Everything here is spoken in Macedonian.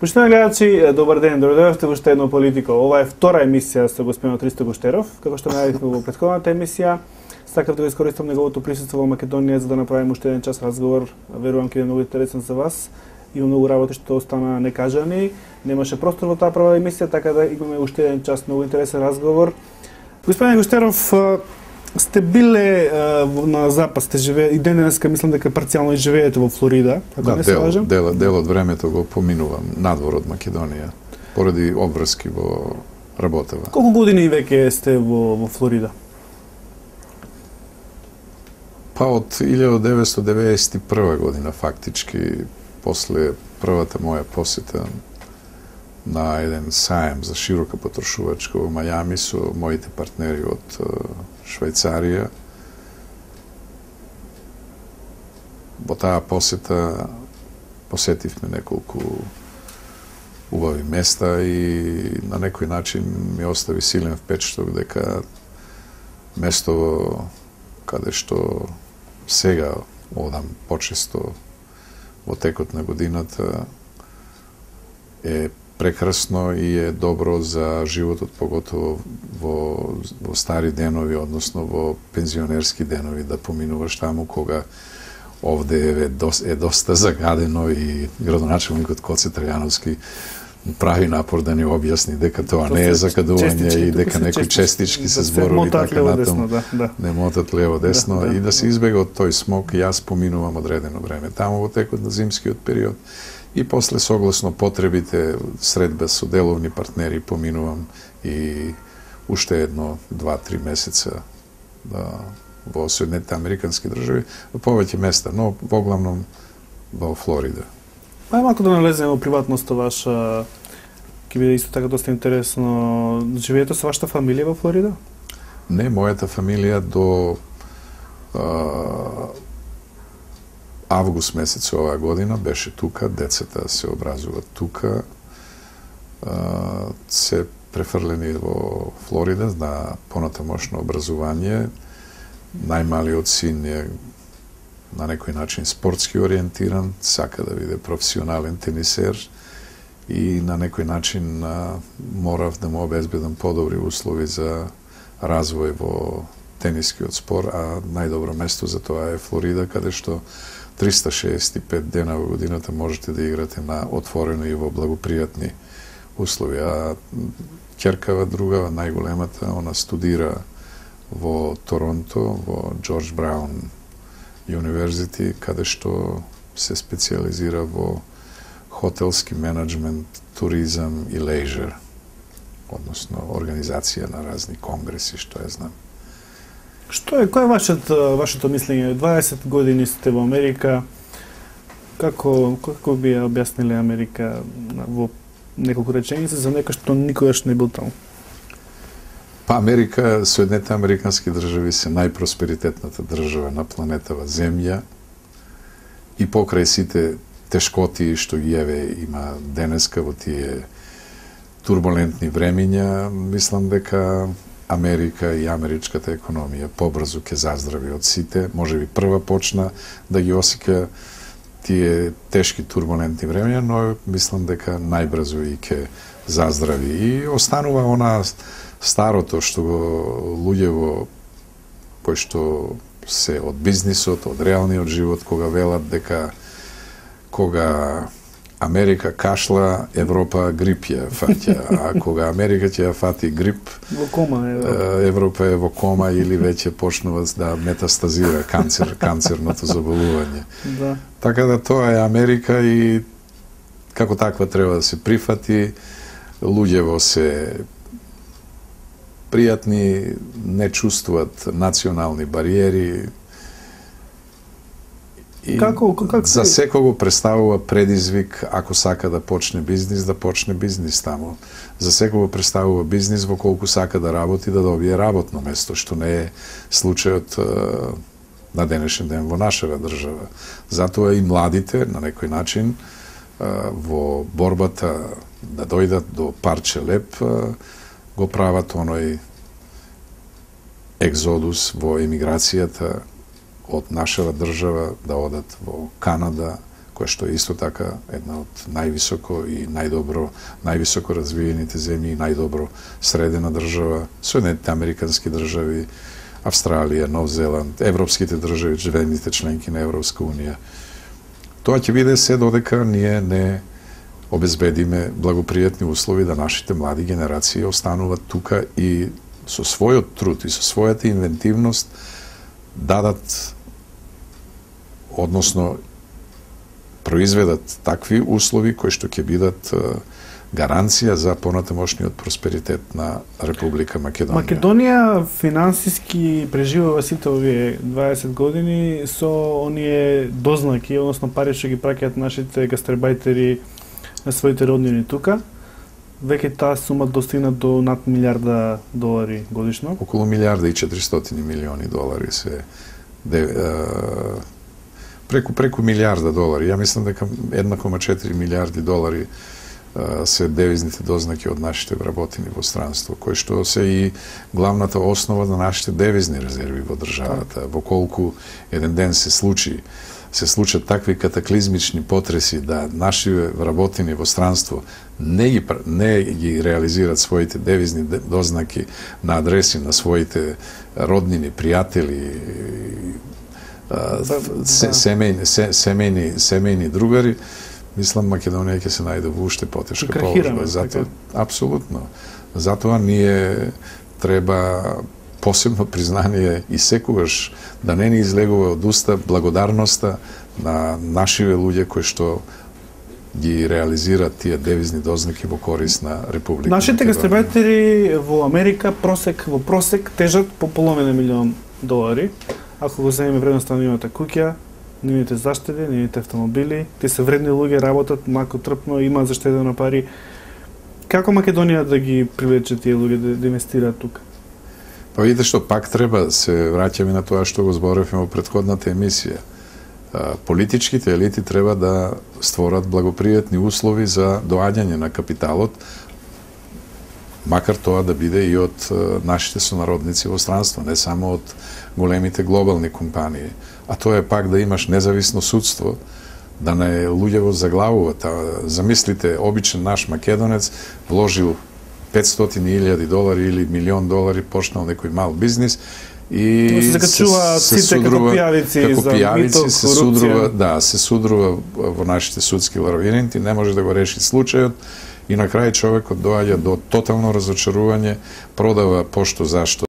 Почитувани гледачи, добар ден, добредојавте во уште едно политика. Ова е втора емисија со господин Ристо Гуштеров. Како што најавивме во претходната емисија, сакав да го искористам неговото присуство во Македонија за да направиме уште еден час разговор. Верувам ќе е многу интересен за вас. Има многу работи што остана некажани. Немаше простор во таа прва емисија, така да имаме уште еден час многу интересен разговор. Господин Гуштеров, сте биле на запад, сте живее и денеска мислам дека парцијално живеете во Флорида, ако не се лажам. Дел од времето го поминувам надвор од Македонија поради обврски во работева. Колку години веќе сте во Флорида? Па од 1991 година фактички, после првата моја посета на еден саем за широка потрошувачка во Мајами со моите партнери од Швајцарија. Во таа посета посетивме неколку убави места и на некој начин ми остави силен впечаток дека место каде што сега одам почесто во текот на годината е прекрасно и е добро за животот, поготово во стари денови, односно во пензионерски денови, да поминуваш таму кога овде е доста загадено и градоначелникот Коце Трајановски прави напор да ни објасни дека тоа не е закадување и дека некои честички се зборови така натаму, не мотат лево-десно и да се избега од тој смог. Јас поминувам одредено време таму во текот на зимскиот период и после согласно потребите средба со деловни партнери поминувам и уште едно 2-3 месеца во Соединетите Американски држави, во повеќе места, но воглавном во Флорида. Ај малку да налеземе во приватноста ваша, ќе биде исто така доста интересно. Живеете со вашата фамилија во Флорида? Не, мојата фамилија до август месец оваа година беше тука, децата се образуваат тука, се префрлени во Флорида на понатамошно образование. Најмалиот син е на некој начин спортски ориентиран, сака да биде професионален тенисер и на некој начин морав да му обезбедам подобри услови за развој во тенискиот спор, а најдобро место за тоа е Флорида, каде што 365 дена во годината можете да играте на отворено и во благопријатни услови. А ќеркава другава, најголемата, она студира во Торонто, во Джордж Браун University, каде што се специализира во хотелски менеджмент, туризам и лејжер, односно организација на разни конгреси, што ја знам. Кој е вашето мислење? 20 години сте во Америка. Како би ја објасниле Америка во неколку реченици за некој што никогаш не бил таму? Па Америка, Соединетите Американски држави се најпросперитетната држава на планетава Земја и покрај сите тешкоти што ги има денеска во тие турбулентни времиња, мислам дека Америка и америчката економија побрзо ќе заздрави од сите, можеби прва почна да ги осеќа тие тешки турбулентни времиња, но мислам дека најбрзо и ќе заздрави. И останува она старото што го луѓево кои што се од бизнисот, од реалниот живот, кога велат дека кога Америка кашла, Европа грип ја фаќа, а кога Америка ќе ја фати грип, во кома Европа е во кома или веќе почнува да метастазира канцерното заболување. Да. Така да тоа е Америка и како таква треба да се прифати. Луѓево се пријатни, не чувствуваат национални бариери. И за секого представува предизвик, ако сака да почне бизнис таму. За секого представува бизнис во колку сака да работи, да добие работно место, што не е случајот на денешен ден во нашава држава. Затоа и младите, на некој начин, во борбата да дојдат до парче леп, го прават оној екзодус во емиграцијата од нашава држава, да одат во Канада, која што е исто така една од највисоко и највисоко развиените земји и најдобро средена држава, Соединетите американски држави, Австралија, Нов Зеланд, европските држави, живените членки на Европска унија. Тоа ќе биде се додека ние не обезбедиме благопријатни услови да нашите млади генерации остануваат тука и со својот труд и со својата инвентивност дадат, односно произведат такви услови кои што ќе бидат гаранција за понатамошниот просперитет на Република Македонија. Македонија финансиски преживува сите овие 20 години со оние дознаки, односно пари што ги праќаат нашите гастребајтери на своите роднини тука. Веќе таа сума достигна до над $1,000,000,000 годишно. Околу $1,400,000,000 се преку $1,000,000,000. Ја мислам дека $1,4 милијарди се девизните дознаки од нашите вработени во странство, кои што се и главната основа на нашите девизни резерви во државата. Во колку еден ден се случат такви катаклизмични потреси да наши вработени во странство не ги реализираат своите девизни дознаки на адреси на своите роднини, пријатели, семејни другари, мислам Македонија ќе се најде во уште потешка положба. Апсолутно. Затоа ние треба посебно признание и секогаш да не ни излегува од уста благодарноста на нашиве луѓе кои што ги реализираат тие девизни дознаки во корис на Република Македонија. Нашите гастребајтери во Америка во просек тежат по половина $1,000,000. Ако го земеме вредноста на нивната куќа, нивните заштеди, нивните автомобили, тие се вредни луѓе, работат малку трпно, имаат заштедено пари. Како Македонија да ги привлече тие луѓе да инвестираат тука? Па видите што, пак треба се враќаме на тоа што го зборевме во претходната емисија. Политичките елити треба да створат благопријатни услови за доаѓање на капиталот, макар тоа да биде и од нашите сонародници во странство, не само од големите глобални компании. А тоа е пак да имаш независно судство, да не луѓе заглавуваат. Замислите, обичен наш македонец вложил $500,000 или $1,000,000, почнал некој мал бизнис и се закачуваат сите како пијавици за мито, корупција. Се судрува во нашите судски лавиринти, не може да го реши случајот и на крај човекот доаѓа до тотално разочарување, продава пошто зашто